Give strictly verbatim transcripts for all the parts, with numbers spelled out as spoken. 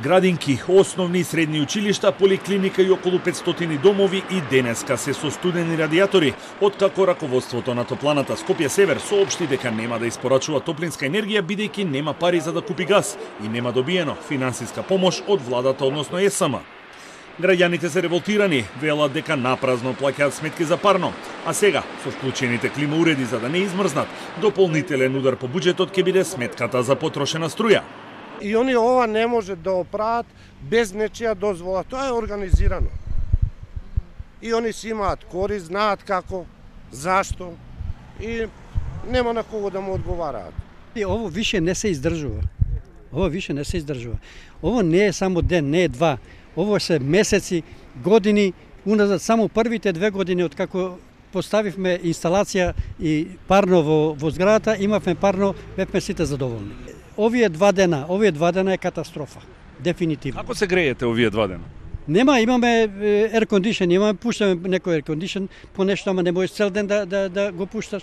Градинки, основни и средни училишта, поликлиника и околу петстотини домови и денеска се со студени радиатори, откако раководството на топланата Скопје Север соопшти дека нема да испорачува топлинска енергија бидејќи нема пари за да купи газ и нема добиено финансиска помош од владата, односно Е С М. Граѓаните се револтирани, велат дека напразно плаќаат сметки за парно, а сега со вклучените климауреди за да не измрзнат, дополнителен удар по буџетот ќе биде сметката за потрошена струја. И они ова не може да оправат без нечија дозвола. Тоа е организирано. И они си имаат корист, знаат како, зашто и нема на кого да му одговараат. И ово више не се издржува. Ово више не се издржува. Ово не е само ден, не е два. Ово се месеци, години, уназад само првите две години од како поставивме инсталација и парно во, во зградата, имавме парно, бевме сите задоволни. Овие два дена, овие два дена е катастрофа, дефинитивно. Како се греете овие два дена? Нема, имаме air condition, имаме пуштаме некој air condition, понешто, ама не можеш цел ден да, да, да го пушташ.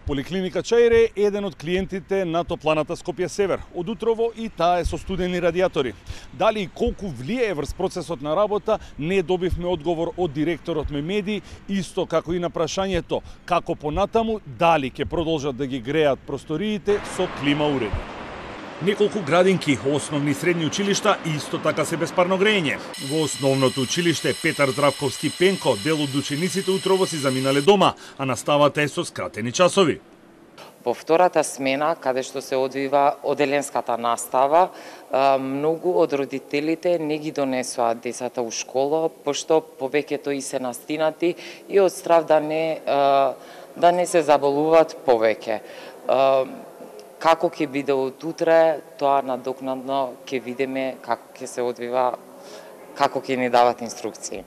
Поликлиника Чаире е еден од клиентите на топланата Скопје Север. Од утрово и таа е со студени радиатори. Дали и колку влијае врз процесот на работа, не добивме одговор од директорот Мемеди, исто како и на прашањето како понатаму, дали ќе продолжат да ги греат просториите со клима уреди. Неколку градинки, основни и средни училишта исто така се без парно грејење. Во основното училиште Петар Здравковски Пенко дел од учениците утрово си заминале дома, а наставата е со скратени часови. Во втората смена, каде што се одвива оделенската настава, многу од родителите не ги донесоа децата у школа, пошто повеќето и се настинати и од страв да не, да не се заболуваат повеќе. Како ќе биде од утре, тоа надокнадно ќе видиме како ќе се одвива, како ќе ни дават инструкции.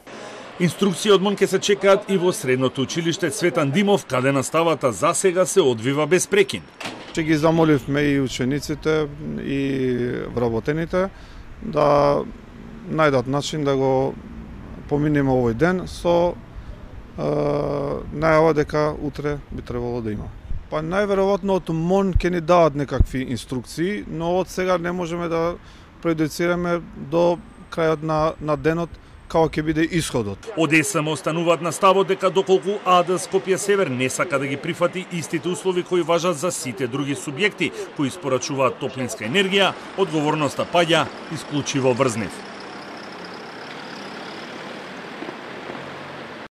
Инструкции од МОН ќе се чекаат и во средното училиште Цветан Димов, каде наставата за сега се одвива без прекин. Ќе ги замоливме и учениците и вработените да најдат начин да го поминеме овој ден со е, најава дека утре би требало да има. Па најверојатно од МОН ќе ни дават некакви инструкции, но од сега не можеме да прејудицираме до крајот на, на денот како ќе биде исходот. Од Е С М остануваат на ставот дека доколку А Д Скопје Север не сака да ги прифати истите услови кои важат за сите други субјекти кои испорачуваат топлинска енергија, одговорноста паѓа исклучиво врз нив.